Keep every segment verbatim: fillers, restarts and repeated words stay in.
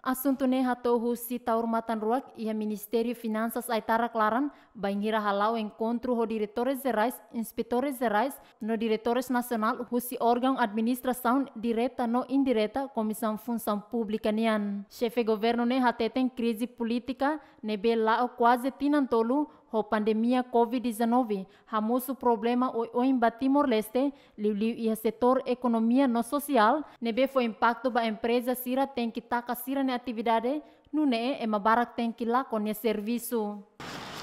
Asuntu ne'e hato'o husi Taur Matan Ruak iha Ministériu Finansas Aitarak laran, bainhira hala'o enkontru ho diretores jerais, inspetores jerais, no diretores nasionál husi órgaun administrasaun direta no indireta Komisaun Funsaun Públika nian. Xefe governu ne'e hateten krize polítika ne'ebé la'o kuaze tinan tolu ho pandemia covid dezanove hamosu problema oioin ba Timor-Leste, liuliu iha setór ekonomia no sosiál, ne'ebé fó impaktu ba empreza sira tenke taka sira-nia atividade, nune'e ema barak tenke lakon nia servisu.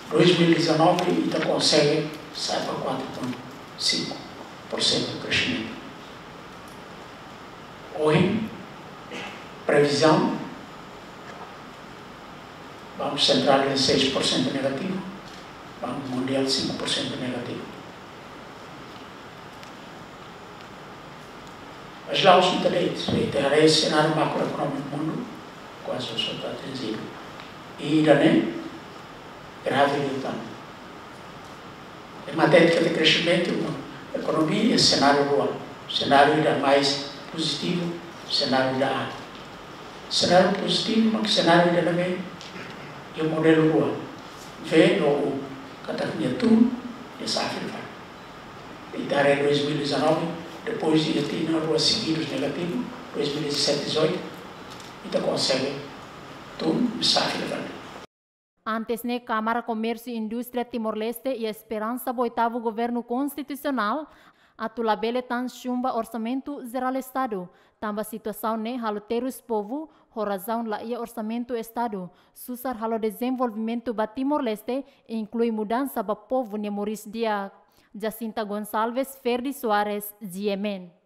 Dois mil e dezanove ita konsege sa'e ba quatro ponto cinco por cento crescimento. Ohin, previzaun, Banku Sentrál iha seis por cento negativu, Banku Mundiál cinco por cento negativu. Mas la'ós ita de'it, se ita haree senáriu makroekonómiku mundu, kuaze só ita atinjidu. I ida-ne'e grave liután. Ema hatete katak kresimentu ekonomia iha senáriu rua. Senáriu ida mais pozitivu, senáriu ida A. Senáriu pozitivu mak senáriu ida ne'ebé iha modelu rua. V no U. Katak nia tun, nia sa'e fila fali. Ita haree dois mil e dezanove, depois de tinan rua seguidus negativu, dois mil e dezessete, dezoito, ita konsege tun, nia sa'e fila fali. Antes ne'e, Kámara Komérsiu Indústria Timor-Leste iha esperansa ba oitavu governu konstitusionál atu labele tan chumba Orsamentu Jerál Estadu, tanba situasaun ne'e halo terus povu, ho razaun la iha orsamentu Estadu, susar halo dezenvolvimentu ba Timor-Leste, inklui mudansa ba povu nia moris di'ak. Jacinta Gonçalves, Ferdi Soares, G M N.